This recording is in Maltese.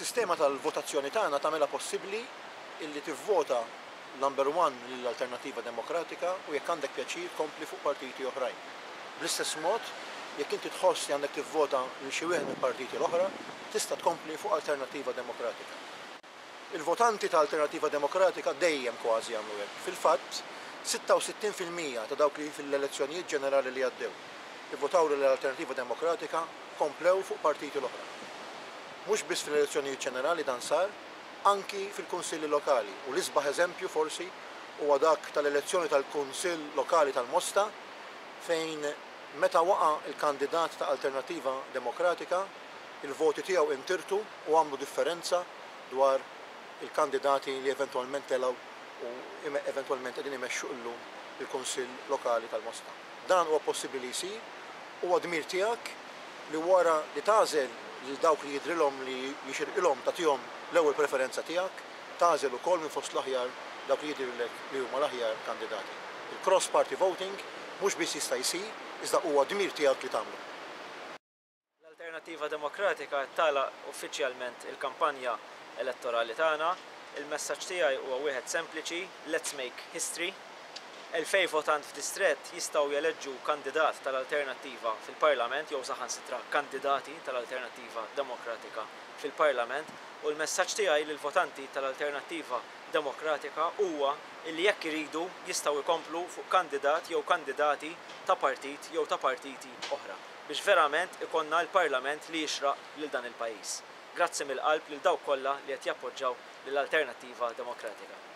Is-sistema tal-votazzjoni tagħna tagħmilha possibbli illi tivvota number one lil Alternattiva Demokratika u jekk għandek pjaċir tkompli fuq partiti oħrajn. Bl-istess mod, jekk inti tħoss li għandek tivvota lil xi wieħed mill-partiti l-oħra, tista' tkompli fuq Alternattiva Demokratika. Il-votanti ta' Alternattiva Demokratika dejjem kważi jagħmlu hekk. Fil-fatt, 66% ta' dawk li fil-elezzjonijiet ġenerali li għaddew ivvotaw lil Alternattiva Demokratika komplew fuq partiti l-oħra. Mhux biss fl-elezzjonijiet ġenerali dan sar, anki fil-kunsilli lokali u l-isbaħ eżempju forsi huwa dak tal-elezzjoni tal-Kunsill Lokali tal-Mosta fejn meta waqa' l-kandidat ta' Alternattiva Demokratika il-voti tiegħu intirtu u għamlu differenza dwar il-kandidati li eventwalment telgħu u eventwalment qegħdin imexxu illum il-Kunsill Lokali tal-Mosta. Dan huwa possibbli li jsir, huwa dmir tiegħek li wara li tagħżel lil dawk li jidhrilhom li jixirqilhom tagħtihom l-ewwel preferenza tiegħek, tagħżel ukoll minn fost l-aħjar dawk li jidhirlek li huma l-aħjar kandidati. Il-cross party voting mhux biss jista' jsir, iżda huwa dmir tiegħek li tagħmlu. L-Alternattiva Demokratika qed tagħlaq uffiċjalment il-kampanja elettorali tagħna. Il-messaġġ tiegħi huwa wieħed sempliċi, let's make history. 2,000 votant f'distrett jistgħu jeleġġu kandidat tal-Alternattiva fil-Parlament jew saħansitra kandidati tal-Alternattiva Demokratika fil-Parlament u l-messaġġ tiegħi lill-votanti tal-Alternattiva Demokratika huwa illi jekk iridu jistgħu jkomplu fuq kandidat jew kandidati ta' partit jew ta' partiti oħra biex verament ikollna l-Parlament li jixraq lil dan il-pajjiż. Grazzi mill-qalb lil dawk kollha li qed jappoġġaw lill-Alternattiva Demokratika.